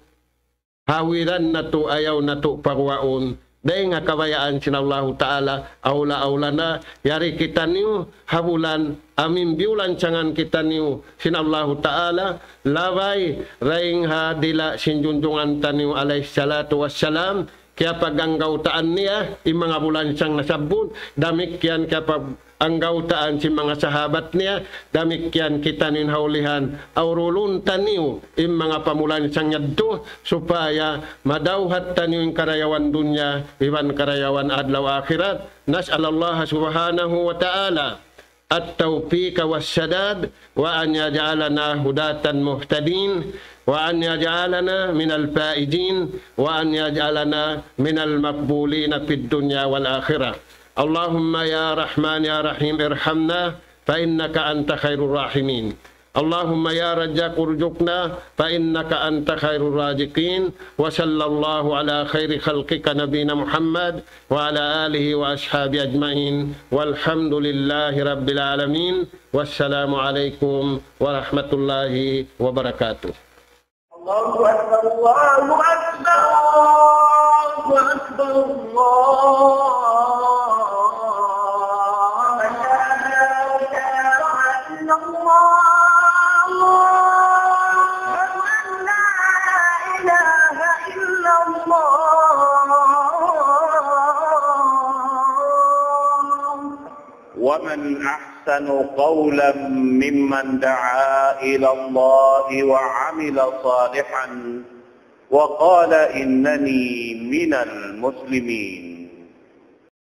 hawiran natu', ayaw natu' paguwaun dayn ha kabayaan sin Allahu Ta'ala, awla-awla na, yari kitaniyu ha bulan, amu in biyulansangan kitaniyu sin Allahu Ta'ala, labay dayn ha dila' sin junjungan taniyu alayhi salatu wassalam, kiyapag-anggawtaan niya in manga bulansang nasabbut, damikkiyan kiyapag-anggawtaan sin manga sahabat niya, damikkiyan kitaniyu in ha ulihan, awrulun taniyu in manga pamulansang yadtu, supaya madawhat taniyu in karayawan dunya, iban karayawan adlaw akhirat. نسأل الله سبحانه وتعالى التوفيق والسداد، وأن يجعلنا هداة مهتدين، وأن يجعلنا من الفائزين، وأن يجعلنا من المقبولين في الدنيا والآخرة. اللهم يا رحمن يا رحيم ارحمنا، فإنك أنت خير الراحمين. اللهم يا رزاق ارزقنا، فإنك أنت خير الرازقين. وصلى الله على خير خلقك نبينا محمد وعلى آله وأصحابه أجمعين. والحمد لله رب العالمين. والسلام عليكم ورحمة الله وبركاته. الله أكبر، الله أكبر، الله أكبر، الله أكبر. أشهد أن لا إله إلا الله. أشهد أن لا إله إلا الله. ومن أحسن قولا ممن دعا إلى الله وعمل صالحا وقال إنني من المسلمين.